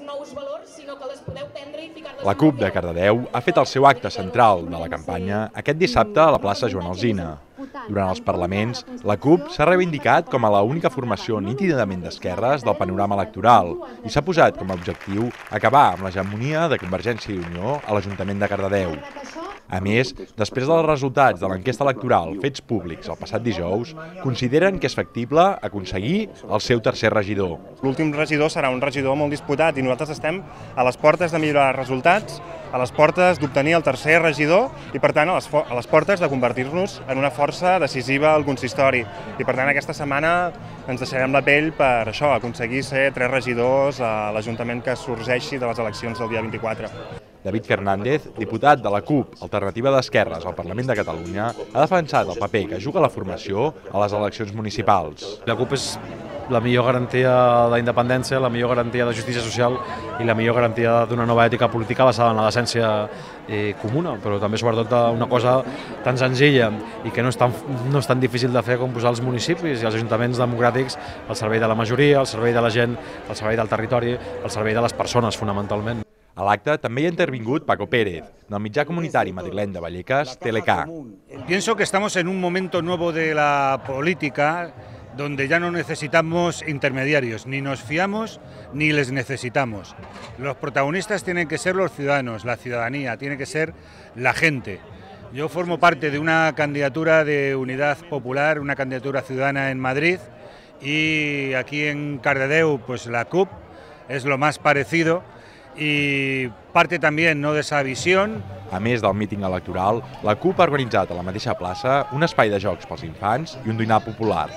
nous valors, sinó que les podeu prendre i ficar-les... La CUP de Cardedeu ha fet el seu acte central de la campanya aquest dissabte a la plaça Joan Alsina. Durant els parlaments, la CUP s'ha reivindicat com a l'única formació nítidament d'esquerres del panorama electoral i s'ha posat com a objectiu acabar amb l'hegemonia de Convergència i Unió a l'Ajuntament de Cardedeu. A més, després dels resultats de l'enquesta electoral fets públics el passat dijous, consideren que és factible aconseguir el seu tercer regidor. L'últim regidor serà un regidor molt disputat i nosaltres estem a les portes de millorar els resultats, a les portes d'obtenir el tercer regidor i, per tant, a les portes de convertir-nos en una força decisiva al consistori. I, per tant, aquesta setmana ens deixarem la pell per això, aconseguir ser 3 regidors a l'Ajuntament que sorgeixi de les eleccions del dia 24. David Fernández, diputat de la CUP, Alternativa d'Esquerres al Parlament de Catalunya, ha defensat el paper que juga la formació a les eleccions municipals. La CUP és la millor garantia d'independència, la millor garantia de justícia social i la millor garantia d'una nova ètica política basada en la decència comuna, però també sobretot una cosa tan senzilla i que no és tan difícil de fer com posar els municipis i els ajuntaments democràtics al servei de la majoria, al servei de la gent, al servei del territori, al servei de les persones, fonamentalment. A l'acte també hi ha intervingut Paco Pérez, del mitjà comunitari madrileny de Vallecas, Telecá. Pienso que estamos en un momento nuevo de la política donde ya no necesitamos intermediarios, ni nos fiamos ni les necesitamos. Los protagonistas tienen que ser los ciudadanos, la ciudadanía, tiene que ser la gente. Yo formo parte de una candidatura de Unidad Popular, una candidatura ciudadana en Madrid, y aquí en Cardedeu pues la CUP es lo más parecido y parte también de esa visión. A més del míting electoral, la CUP ha organitzat a la mateixa plaça un espai de jocs pels infants i un dinar popular.